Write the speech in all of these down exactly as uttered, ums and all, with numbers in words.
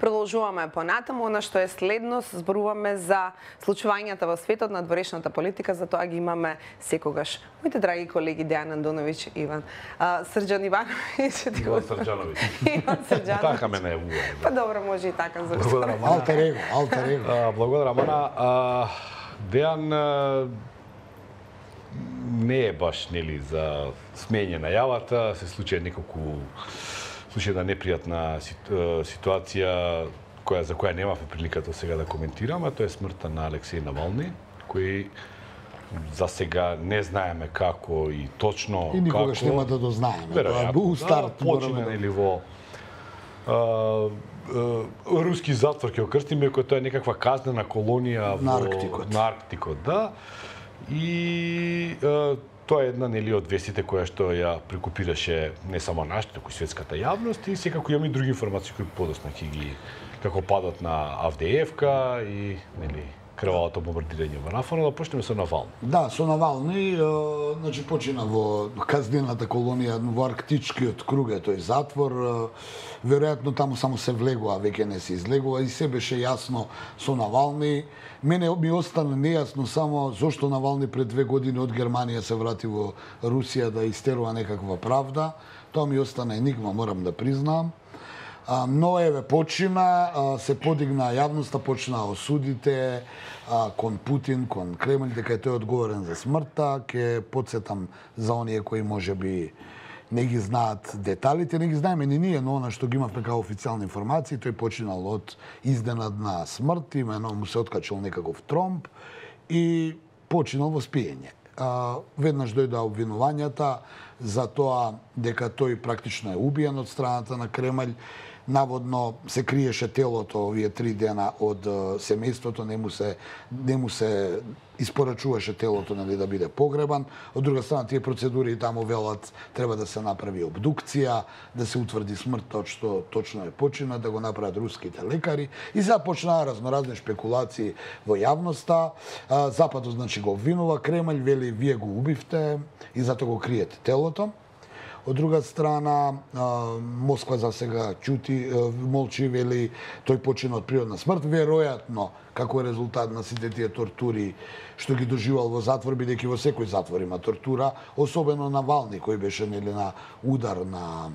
Продолжуваме понатаму, она што е следност, зборуваме за случувањата во светот на дворешната политика, за тоа ги имаме секогаш. Моите драги колеги Дејан Андоновиќ, Иван а, Срđan Ивановиќ, Иван Срđановиќ. Иван Срđановиќ. Така ме најавува. Па добро, може и така за Благодарам, алтер его, алтер его. Благодарам, Ана. Дејан не е баш нели за смење најавата, се случи неколку случи една непријатна ситуација која за која немавме приликата сега да коментираме, тоа е смртта на Алексеј Навални, кој за сега не знаеме како и точно и никогаш како, нема да дознаеме. Тоа е бу старт, да, почина нели во а, а, руски затвор ќе окрстиме, кој тоа е некаква казнена колонија на во Арктикот. На Арктикот, да. И а, тоа е една нели од вестите која што ја прекупираше не само нашата, туку и светската јавност, и секако имаме и други информации кои подосна ќе ги како падот на Авдеевка и нели крвавото бомбардирање во Нафона. Да почнеме со Навални. Да, со Навални, е, значи почина во казнената колонија во Арктичкиот круг е тој затвор. Е, веројатно таму само се влегува, веќе не се излегува, и се беше јасно со Навални. Мене ми остана нејасно само зошто Навални пред две години од Германија се врати во Русија да истерува некаква правда. Тоа ми остана енигма, морам да признам. Но еве почина, се подигна јавноста, почна осудите кон Путин, кон Кремљ, дека е тој одговорен за смртта. Ке подсетам за оние кои можеби не ги знаат деталите, не ги знаеме ни ние, но она што ги имавме како официјални информации, тој починал од изненадна смрт, имено му се откачал некаков тромб и починал во спиење. Веднаш дојдоа обвинувањата за тоа дека тој практично е убиен од страната на Кремљ. Наводно се криеше телото овие три дена од семејството, не му се не му се испорачуваше телото нели да биде погребан. Од друга страна тие процедури таму велат треба да се направи обдукција, да се утврди смртта од што точно е почина, да го направат руските лекари и започнаа разноразни шпекулации во јавноста. Западот значи го обвинува Кремљ, вели вие го убивте и затоа го криете телото. Од друга страна, Москва за сега чути, молчи, вели тој почина од природна смрт, веројатно како резултат на сите тие тортури што ги доживал во затвор, бидејќи во секој затвор има тортура, особено Навални кој беше нели на удар на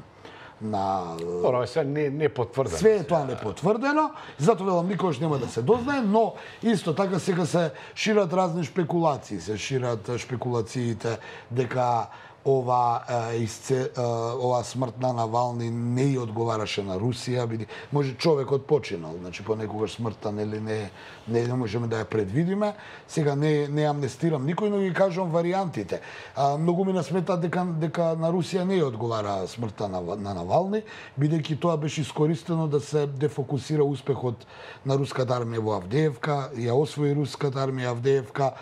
на Ора, се не не потврдено. Све е тоа не потврдено, затоа велам никогаш нема да се дознае, но исто така сега се шират разни шпекулации, се шират шпекулациите дека ова изце, ова смрт на Навални не ја одговараше на Русија, биде може човекот починал, значи понекогаш смртта нели не не, не можеме да ја предвидиме. Сега не не амнестирам никој, но ги кажувам варијантите. А, многу ми насмета дека дека на Русија не ја одговара смртта на, на Навални, бидејќи тоа беше искористено да се дефокусира успехот на руската армија во Авдеевка, ја освои руската армија Авдеевка,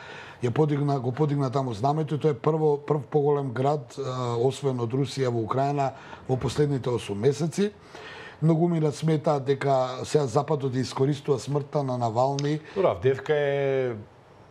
ја подигна, го подигна таму знамето и тоа е прво, прв поголем град а, освоен од Русија во Украина во последните осум месеци. Многу ми смета дека сега Западот искористува смртта на Навални. Добро, Авдеевка е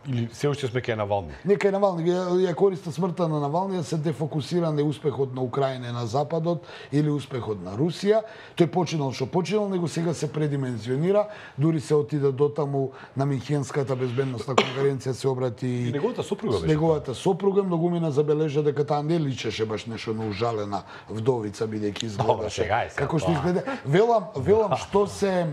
или се уште сме кај Навални? Не кај Навални, ја користа смртта на Навални да се дефокусира на успехот на Украина на Западот или успехот на Русија. Тој починал што починал, него сега се предимензионира, дури се отиде до таму на Минхенската безбедносна конференција се обрати и неговата сопруга беше. Неговата сопруга многу ми забележа дека таа не личеше баш нешто на ужалена вдовица, бидејќи изгледаше како што изгледа. Велам, велам што се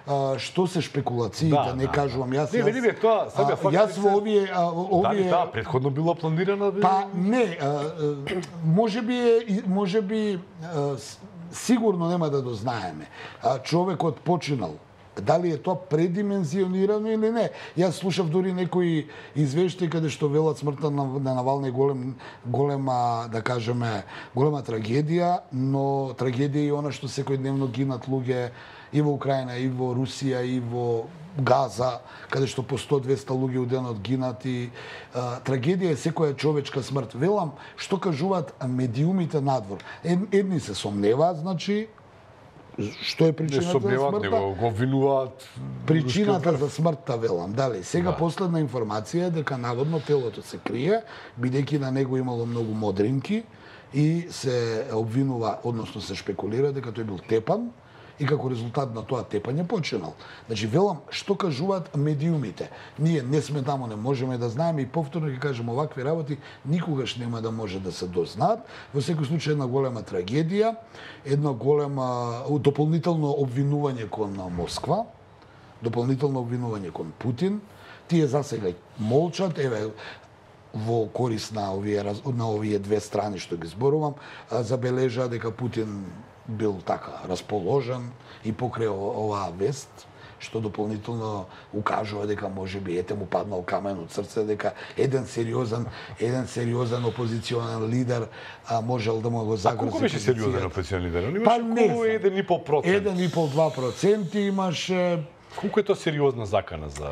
Uh, што се шпекулациите, да, не да, кажувам јас. Не, вели тоа, сега факт. Јас во овие овие Дали таа претходно била планирана? Па не, uh, можеби е можеби uh, сигурно нема да дознаеме. Uh, човекот починал. Дали е тоа предимензионирано или не? Јас слушав дури некои извештаи каде што велат смртта на, на Навални голем, голема, да кажеме, голема трагедија, но трагедија е она што секојдневно гинат луѓе и во Украина, и во Русија, и во Газа, каде што по сто-двеста луѓе у денот гинат и а, трагедија е секоја човечка смрт. Велам, што кажуваат медиумите надвор. Едни се сомневаат, значи, што е причината за смртта? Него го обвинуваат. Причината за смртта, велам, дали. Сега да. Последна информација е дека наводно телото се крие, бидејќи на него имало многу модринки и се обвинува, односно се шпекулира дека тој бил тепан и како резултат на тоа тепање починал. Значи велам што кажуваат медиумите. Ние не сме таму, не можеме да знаеме и повторно ќе кажем овакви работи никогаш нема да може да се дознаат. Во секој случај една голема трагедија, едно голема дополнително обвинување кон Москва, дополнително обвинување кон Путин. Тие засега молчат, еве во корист на овие на овие две страни што ги зборувам, забележа дека Путин бил така расположен и покрај оваа вест, што дополнително укажува дека можеби ете му паднал камен од срце, дека еден сериозен, еден сериозен опозиционен лидер а, можел да му го загрози. А колку беше сериозен опозиционен лидер? Он Па имаше околу еден и пол процент. еден и пол до два проценти имаше. Колку е тоа сериозна закана за...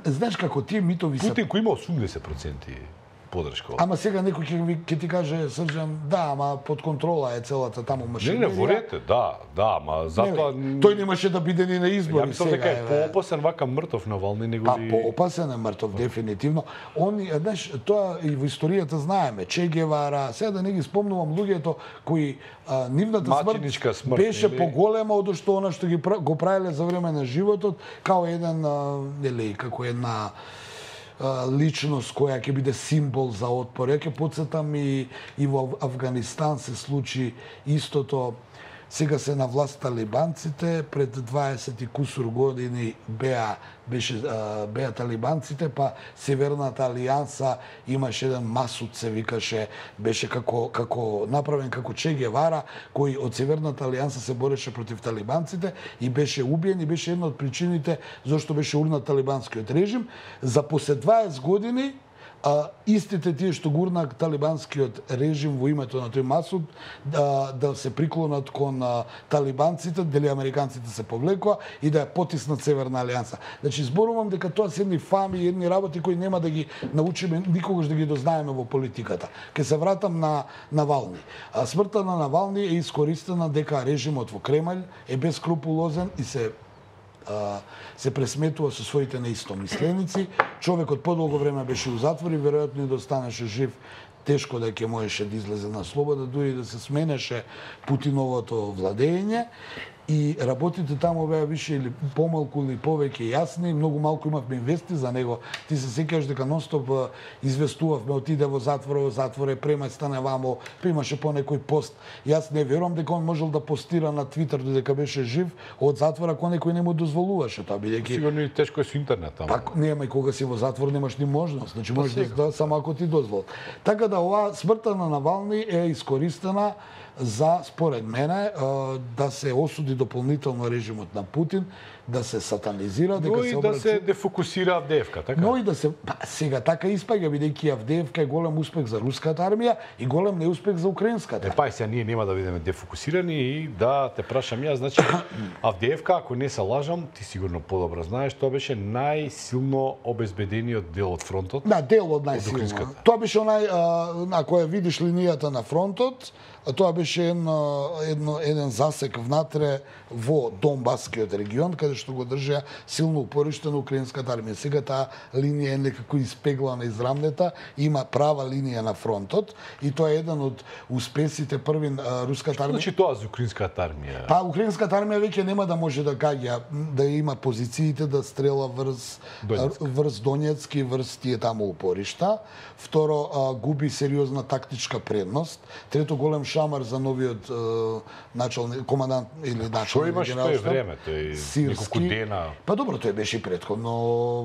Знаеш како тие митови се... Путин кој има осумдесет проценти подршка. Ама сега некој ќе ви ќе ти каже Срđан, да, ама под контрола е целата таму машинерија. Не, не, во ред е, да, да, ама затоа... Не, тој немаше да биде ни на избори. Ја мислам дека е поопасен вака мртов Навални него Па ли... поопасен е мртов дефинитивно. Он, знаеш, тоа и во историјата знаеме, Че Гевара, сега да не ги спомнувам луѓето кои а, нивната смрт, смрт беше или... поголема од што она што ги го правеле за време на животот, као еден а, нели како една личност која ќе биде символ за отпор. Ја ќе потсетам и, и во Авганистан се случи истото. Сега се на власт талибанците, пред дваесет и кусур години беа беше беа талибанците, па Северната алијанса имаше еден Масуд се викаше, беше како како направен како Че Гевара, кој од Северната алијанса се бореше против талибанците и беше убиен и беше една од причините зашто беше урнат талибанскиот режим. За после дваесет години а, истите тие што гурна талибанскиот режим во името на тој Масуд да, да се приклонат кон а, талибанците, дали американците се повлекоа и да ја потиснат Северна алијанса. Значи зборувам дека тоа се едни фами и едни работи кои нема да ги научиме никогаш да ги дознаеме во политиката. Ке се вратам на Навални. А, смртта на Навални е искористена дека режимот во Кремљ е бескрупулозен и се се пресметува со своите неистомисленици. Човекот подолго време беше у затвор и веројатно и да останеше жив, тешко да ќе можеше да излезе на слобода, дури да се сменеше Путиновото владење. И работите таму беа више или помалку или повеќе јасни, многу малку имавме инвести за него. Ти се сеќаваш дека нонстоп известувавме, отиде во затвор, во затвор е преместане вамо, примаше по некој пост. Јас не верувам дека он можел да постира на Твитер додека беше жив од затвора кога некој не му дозволуваше тоа, бидејќи сигурно и тешко е со интернет таму. Па нема и кога си во затвор немаш ни можност, значи можеш да, да само ако ти дозволат. Така да оваа смртта на Навални е искористена за, според мене, да се осуди дополнително режимот на Путин, да се сатанизира, дека но се и обрачи... да се дефокусира Авдеевка, така? Но и да се... Па, сега така испаѓа, бидејќи Авдеевка е голем успех за руската армија и голем неуспех за украинската. Е, па и сега ние нема да бидеме дефокусирани и да те прашам јас, значи Авдеевка, ако не се лажам, ти сигурно подобро знаеш, тоа беше најсилно обезбедениот дел од фронтот. Да, дел од најсилно. Тоа беше онај, а, ако ја видиш линијата на фронтот, тоа беше едно, едно, еден засек внатре во Донбаскиот регион, каде што го држа силно упориште на украинската армија. Сега таа линија е некако испеглана, израмнета, има права линија на фронтот и тоа е еден од успесите први а, руската армија. Значи тоа за украинската армија? Па украинската армија веќе нема да може да гаѓа, да има позициите да стрела врз Донецк, врз Донецк и врз тие таму упоришта. Второ, а, губи сериозна тактичка предност. Трето, голем шамар за новиот а, началник, командант или началник. Што имаш тој време, тој неколку дена? Па добро, тој беше и претходно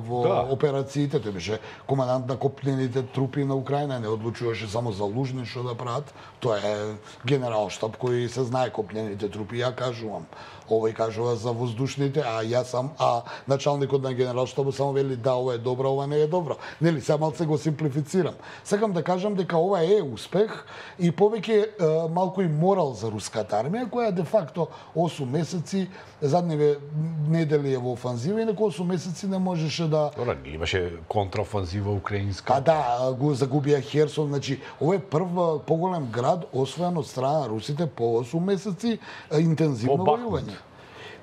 во да. операциите, тој беше командант на копнените трупи на Украина, не одлучуваше само за Лужни што да прават. Тоа е генералштаб кој се знае копнените трупи, ја кажувам. Овој кажува за воздушните, а јас сам, а началникот на генералштабот само вели да, ова е добро, ова не е добро. Нели, сега малце го симплифицирам. Сакам да кажам дека ова е успех и повеќе малку и морал за руската армија, која де факто осум месеци, задниве недели е во офанзива и неко осум месеци не можеше да... Добра, имаше контраофанзива украинска. А да, го загубија Херсон, значи, ова е прв поголем град освоен од страна на русите по осум месеци интензивно војување.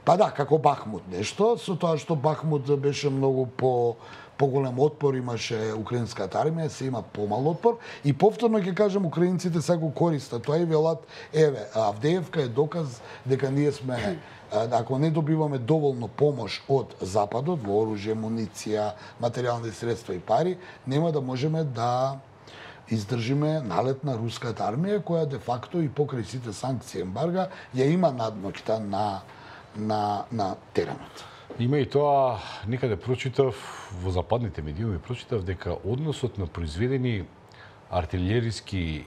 Па да, како Бахмут нешто, со тоа што Бахмут беше многу по поголем отпор имаше украинската армија, се има помал отпор и повторно ќе кажам украинците се го користат тоа и велат еве Авдеевка е доказ дека ние сме ако не добиваме доволно помош од западот во оружје, муниција, материјални средства и пари, нема да можеме да издржиме налет на руската армија која де факто и покрај сите санкции ембарга ја има надмоќта на на на теренот. Има и тоа, некаде прочитав, во западните медиуми прочитав дека односот на произведени артилериски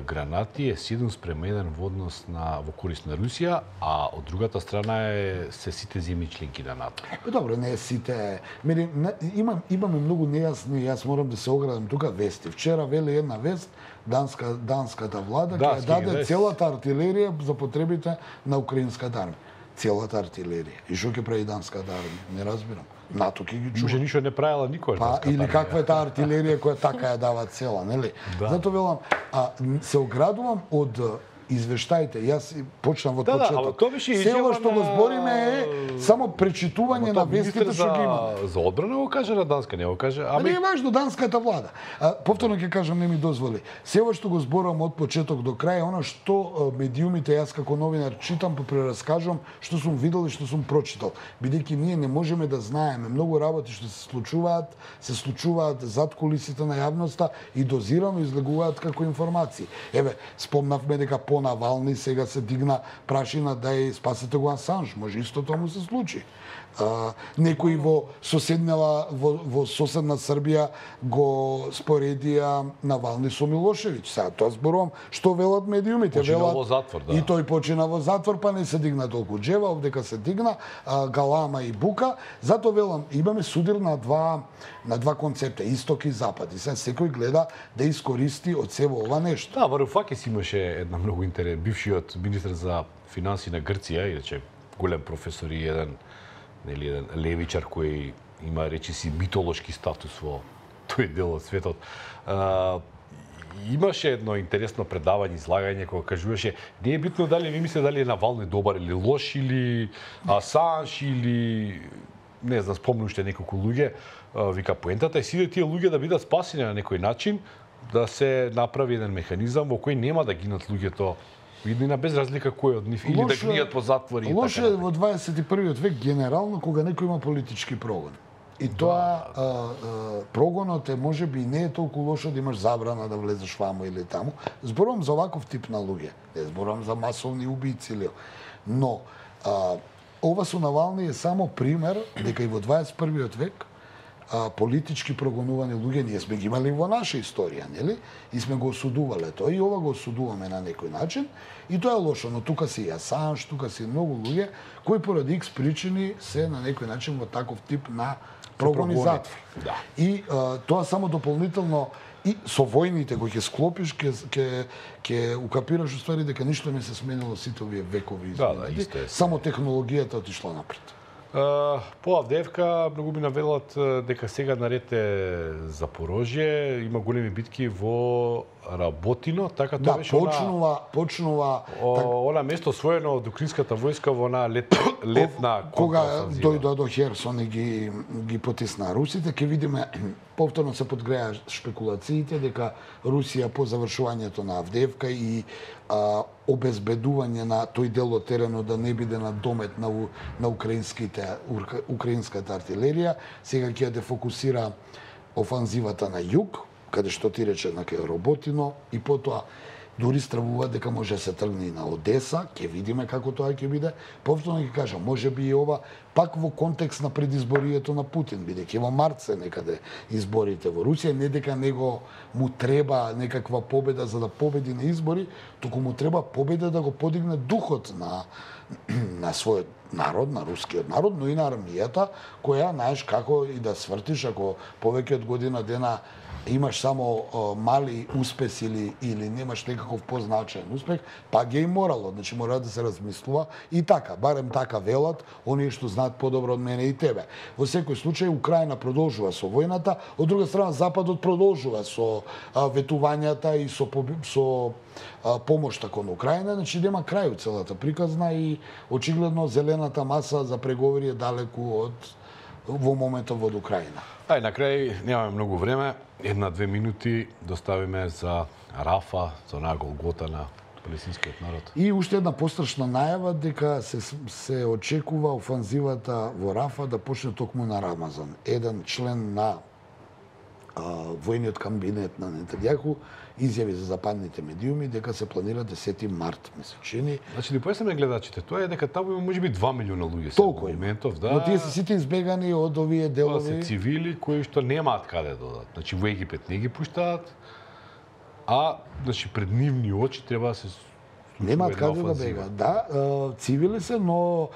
гранати е седум спрема еден во однос на во корист на Русија, а од другата страна е се сите земји членки на НАТО. Добро, не сите. Мери, имам имаме многу нејасни, јас морам да се оградам тука вести. Вчера вели една вест, данска данската влада ќе да, даде да, целата артилерија за потребите на украинската армија. Целата артилерија. И што ќе прави данската армија? Не разбирам. НАТО ќе ги чува. Може ништо не правила никој. Па или каква е таа артилерија која така ја дава цела, нели? Да. Зато велам, а се оградувам од извештаите. Јас почнав од да, почеток. Да, беше Село што го збориме е само пречитување на вестите што ги имаме. За одбрана го каже на Данска, не го каже. Ами не е важно данската влада. А, повторно ќе кажам, не ми дозволи. Село што го зборувам од почеток до крај, она што медиумите јас како новинар читам, па прераскажувам што сум видел и што сум прочитал. Бидејќи ние не можеме да знаеме многу работи што се случуваат, се случуваат зад кулисите на јавноста и дозирано излегуваат како информации. Еве, спомнавме дека по Навални сега се дигна прашина да ја спасете го Асанж, може исто тоа му се случи. А, некои во соседнала во, во соседна Србија го споредија Навални со Милошевиќ. Сега тоа зборувам што велат медиумите, почина велат во затвор, да. И тој почина во затвор, па не се дигна толку джева, овдека се дигна а, галама и бука. Зато велам, имаме судир на два на два концепта, исток и запад. И сега секој гледа да искористи од себе ова нешто. Да, Варуфакис имаше една многу интерес, бившиот министер за финансии на Грција, иначе голем професор и еден нели еден левичар кој има речиси митолошки статус во тој дел од светот. А, имаше едно интересно предавање, излагање кога кажуваше не е битно дали ви мислите дали е Навални добар или лош или Асанж или не знам, спомнам уште неколку луѓе. Вика поентата е сите тие луѓе да бидат спасени на некој начин, да се направи еден механизам во кој нема да гинат луѓето видно без разлика кој од нив, или да гнијат по затвори и така. Лошо е во дваесет и првиот век генерално кога некој има политички прогон. И тоа а, а, прогонот е можеби не е толку лошо да имаш забрана да влезеш ваму или таму. Зборувам за оваков тип на луѓе. Не зборувам за масовни убици или. Но а, ова со Навални е само пример дека и во дваесет и првиот век а, политички прогонувани луѓе ние сме ги имали во наша историја, нели? И сме го осудувале тоа и ова го осудуваме на некој начин и тоа е лошо, но тука се и Асанж, тука се и многу луѓе кои поради икс причини се на некој начин во таков тип на прогон и затвор. Да. И а, тоа само дополнително и со војните кои ќе склопиш ќе ќе ќе укапираш уствари дека ништо не се сменило сите овие векови измени. Да, да, исто е. Само технологијата отишла напред. Uh, по Авдеевка многу ми навелат дека сега наред е Запорожје, има големи битки во Работино, така тоа да, беше почнува, она почнува о, так... она место освоено од украинската војска во она лет, летна кога дојдоа до Херсон и ги ги потисна русите, ќе видиме повторно се подгреа шпекулациите дека Русија по завршувањето на Авдеевка и а, обезбедување на тој дел од теренот да не биде на домет на на украинските украинската артилерија, сега ќе ја дефокусира офанзивата на југ, каде што ти рече на кај Работино и потоа дури стравува дека може да се тргне и на Одеса, ќе видиме како тоа ќе биде. Повторно ќе кажам, можеби и ова пак во контекст на предизборието на Путин, бидејќи во март се некаде изборите во Русија, не дека него му треба некаква победа за да победи на избори, туку му треба победа да го подигне духот на на својот народ, на рускиот народ, но и на армијата, која, знаеш, како и да свртиш, ако повеќе од година дена имаш само о, мали успеси или или немаш некаков позначаен успех, па ги е морало, значи мора да се размислува и така, барем така велат, оние што знаат подобро од мене и тебе. Во секој случај Украина продолжува со војната, од друга страна Западот продолжува со а, ветувањата и со со а, помошта кон Украина, значи нема крај у целата приказна и очигледно зелена критичната маса за преговори е далеку од во моментот во Украина. Ај, на крај немаме многу време, една-две минути доставиме за Рафа, за онаа Голгота на палестинскиот народ. И уште една пострашна најава дека се се очекува офанзивата во Рафа да почне токму на Рамазан. Еден член на а, војниот кабинет на Нетањаху изјави за западните медиуми дека се планира десети март месечини. Значи, да појасниме гледачите, тоа е дека таму има можеби два милиона луѓе Толку во моментов, да. Но тие се сите избегани од овие Тоа делови. се цивили кои што немаат каде да додат. Значи, во Египет не ги пуштаат, а значи пред нивни очи треба да се Немаат каде да бега. Да, цивили се, но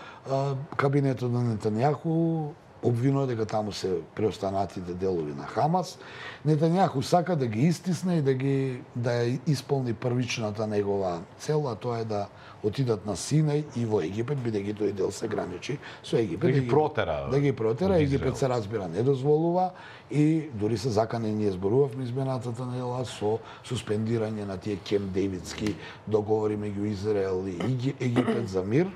кабинетот на Нетањаху обвинува дека таму се преостанатите делови на Хамас. Нетањаху сака да ги истисне и да ги да ја исполни првичната негова цел, а тоа е да отидат на Синај и во Египет, бидејќи тој дел се граничи со Египет. Да ги протера. Да ги протера, Египет се разбира не дозволува и дури се закани, ние зборувавме изменатата недела со суспендирање на тие Кемп Дејвидски договори меѓу Израел и Египет за мир,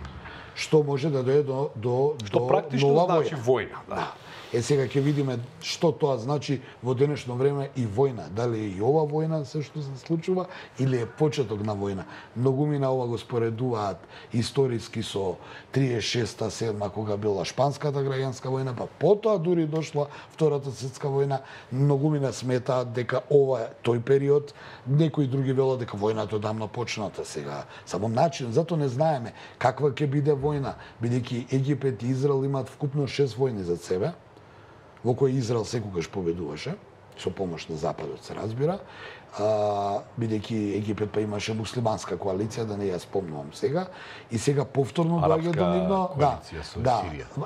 што може да дојде до до Што до практично нова значи војна. војна, да. Да. Е, сега ќе видиме што тоа значи во денешно време и војна. Дали е и ова војна се што се случува или е почеток на војна. Многумина ова го споредуваат историски со триесет и шеста седма кога била шпанската граѓанска војна, па потоа дури дошла Втората светска војна. Многумина сметаат дека ова е тој период, некои други велат дека војната одамна почната сега. Само начин, затоа не знаеме каква ќе биде војна, бидејќи Египет и Израел имаат вкупно шест војни за себе, во кој Израел секогаш победуваше, со помош на Западот се разбира, а, бидејќи Египет па имаше муслиманска коалиција, да не ја спомнувам сега, и сега повторно доаѓа до нивно, да, да,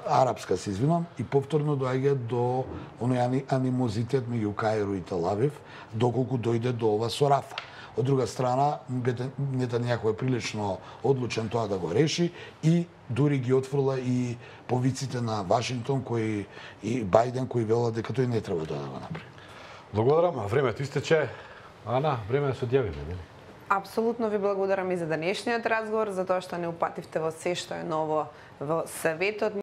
арапска се извинам, и повторно доаѓа до оној анимозитет меѓу Каиро и Тел Авив, доколку дојде до ова со Рафа. Од друга страна, Нетањаху е прилично одлучен тоа да го реши и дури ги отфрла и повиците на Вашингтон кои и Бајден кои велат дека тој не треба да го направи. Благодарам, времето истече. Ана, време да се одјавиме, нели? Апсолутно ви благодарам и за денешниот разговор, за тоа што не упативте во се што е ново во Советот.